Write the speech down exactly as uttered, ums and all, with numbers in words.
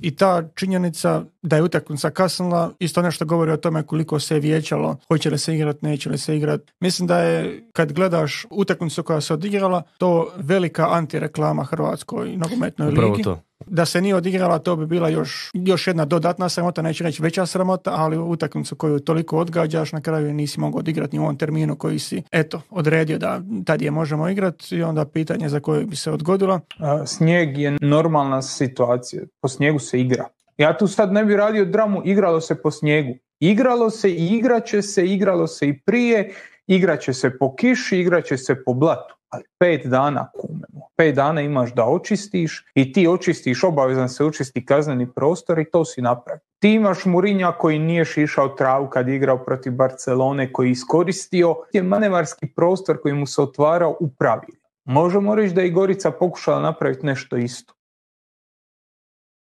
i ta činjenica da je utakmica kasnila isto nešto govori o tome koliko se je vijećalo, hoće li se igrat, neće li se igrat. Mislim da je, kad gledaš utakmicu koja se odigrala, to velika antireklama Hrvatskoj nogometnoj Upravo ligi. to. Da se nije odigrala, to bi bila još, još jedna dodatna sramota, neću reći veća sramota, ali utakmicu koju toliko odgađaš, na kraju nisi mogao odigrati ni u ovom terminu koji si, eto, odredio da tad je možemo igrati i onda pitanje za koje bi se odgodilo. Snijeg je normalna situacija, po snijegu se igra. Ja tu sad ne bi radio dramu, igralo se po snijegu. Igralo se i igraće se, igralo se i prije, igraće se po kiši, igraće se po blatu. Ali pet dana kumemo. Pet dana imaš da očistiš i ti očistiš, obavezan se očisti kazneni prostor i to si napravi. Ti imaš Mourinha koji nije šišao travu kad je igrao protiv Barcelone, koji je iskoristio je manevarski prostor koji mu se otvarao u pravilu. Možemo reći da je i Gorica pokušala napraviti nešto isto.